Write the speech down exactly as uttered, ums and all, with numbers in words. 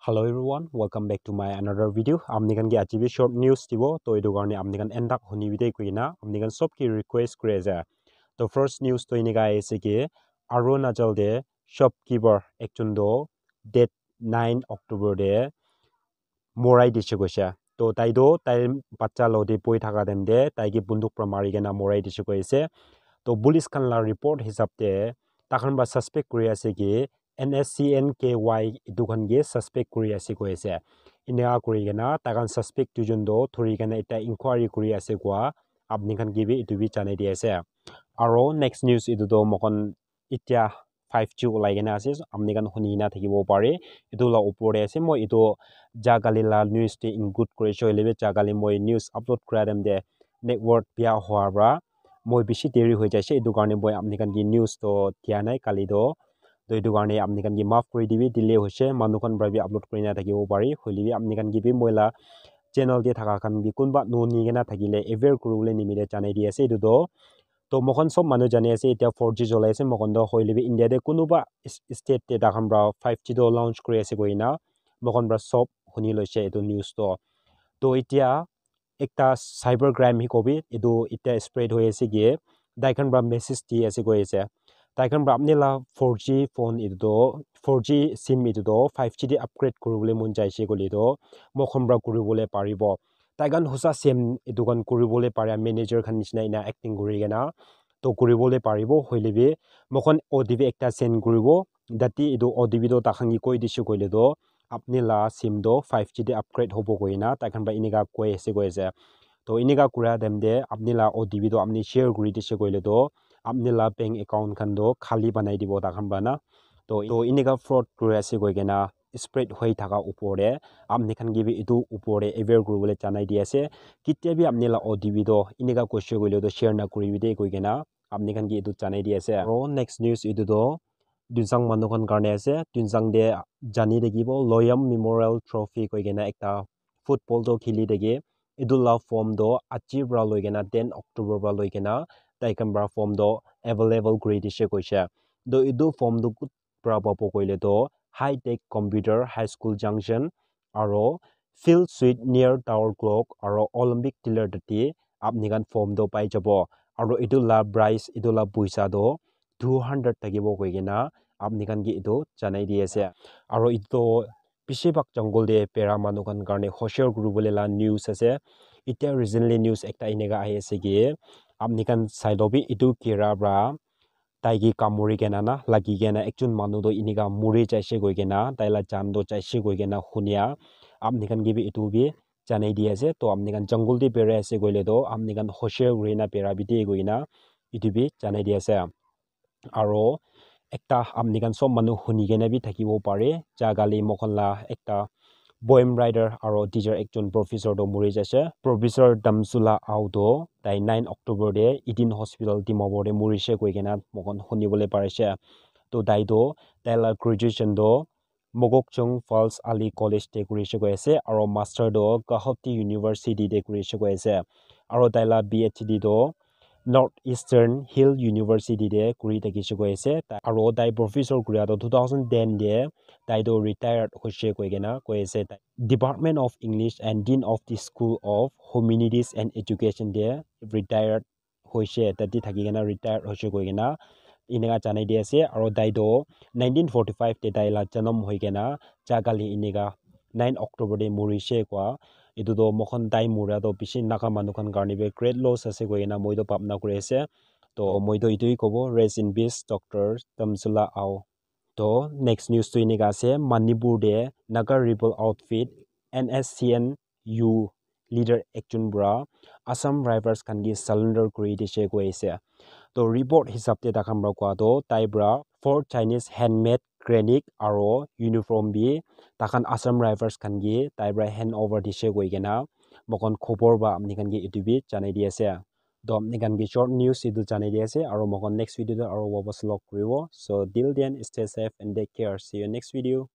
Hello everyone, welcome back to my another video. Apni khan ke aji bi short news dibo, to etu karne apni khan end tak huni bi de koina apni khan sob ke request kuri ase. To first news to enika aise ki Arunachal de shopkeeper ekjon to date nine October de morai dise koise. To tai to tai bacha lo de boi thaka time de tai ke bunduk pra mari kena morai dise koise. To police khan la report hisab de takhan pra suspect kuri ase ki N S C N K Y etu khan ke suspect kuri ase koi ase. Eneka kuri kena takhan suspect duijon to thuri kena ekta inquiry kuri ase koa apni khan ke bi etu bi janai di ase. Aro next news etu to mokhan itya five G ulai kena ase, apni khan huni kena thakibo pare. Etu la upor te ase, moi etu ja kali la news te include kuri ase, hoile bi ja kali moi news upload kura time te network bia hoa pra moi bishi deri hoi jaise, etu karne moi apni khan ke news to dia nai kali to. To etu karne apni khan ke maaf kuri dibi, delay hoise, manu khan pra bi upload kuri na thakibo pare, hoile bi apni khan ke bi moi la channel te thaka khan bi kunba nuhuni kena thakile aware kuribole nimite janai di ase etu to. To moikhan sob manu jani ase, itya four G cholai ase, moikhan to hoile bi India te kunuba s-, state te takhan pra five G to launch kuri ase koina moikhan pra sob huni loise etu news to. To itya ekta cyber crime hi kobi, etu itya spread hoi ase ki tai khan pra message di ase koi ase. Tai khan pra apni la four G phone etu to, four G sim etu to five G te upgrade kuribole mon jaise koile to moikhan pra kuribole paribo. Tai khan hosa sim etu khan kuribole pare, manager khan nishina ena acting kuri kena to kuribole paribo, hoile bi moikhan O T P ekta send kuribo, tate etu O T P to takhan ke koi dise koile to apni la sim to five G te upgrade hobo koina tai khan pra eneka koi ase koi ase. To eneka kura time te apni la O T P to apni share kuri dise koile to apni la bank account khan to khali banai dibo takhan pra na. To, to eneka fraud kuri ase koi kena spread hoi thaka upor te apni khan ke bi etu upor te aware kuribole janai di ase. Ketia bi apni la O T P to eneka koise koile to share na kuribi de koi kena apni khan ke etu janai di ase. Aro next news etu to Tuensang manu khan karne ase. Tuensang te jani thakibo Loyam Memorial Trophy koi kena ekta football to khili thake. Etu la form to aji pra loi kena ten October pra loi kena tai khan pra form to available kuri dise koise. To etu form to kut pra pabo koile to High Tech Computer High School Junction aro Field Suite near Tower Clock aro Olympic Tiller tate apni khan form to pai jabo. Aro etu la price, etu la puisa to two hundred thakibo koi kena apni khan ke etu janai di ase. Aro etu to bishi bhag jungle te bera manu khan karne hoshiar kuribole la news ase. Itya recently news ekta eneka ahi ase ki apni khan sai lo bi etu kira pra tai ke kamuri kena na lagi kena ekjon manu to eneka muri jaise koi kena tai la jan to jaise koi kena hunia apni khan ke bi etu bi janai di ase. To apni khan jungle te berai ase koile to apni khan hoshiar kuri na bera bi de koi kena etu bi janai di ase. Aro ekta apni khan sob manu huni kena bi thakibo pare, ja kali moikhan la ekta poem writer aro teacher ekjon professor to muri jaise. Professor Damsula Ao to tai nine October te Eden Hospital Dimapur te murise koi kena moikhan hunibole parise. To tai to tai la graduation to Mokokchung Falls Ali College te kurise koi ase aro master to Gauhati University te kurise koi ase aro tai la P H D to North Eastern Hill University te kuri thakise koi ase. Ta-, aro tai professor kuria to two thousand ten te tai to retired hoise koi kena koi ase. Department of English and Dean of the School of Humanities and Education te retired hoise, tate thaki kena retired hoise koi kena eneka janai di ase. Aro tai to nineteen forty-five te tai la janam hoi kena ja kali eneka nine October te murise koi. Etu to moikhan tai mura to bishi Naga manu khan karne bi great loss ase koi kena moi to bhabna kuri ase. To moi to etu hi kobo, rest in peace Doctor Damsula Ao. To next news to eneka ase, Manipur te Naga rebel outfit N S C N U leader ekjon pra Assam Rifles khan ke surrender kuri dise koi ase. To report hisab te takhan pra koa to tai pra four Chinese handmade grenade aro uniform bi takhan Assam Rifles khan ke tai pra hand over dise koi kena moikhan khobor pa apni khan ke etu bi janai di ase. To apni khan ke short news etu janai di ase aro moikhan next video te aro wapas log kuribo. So till then, stay safe and take care. See you next video.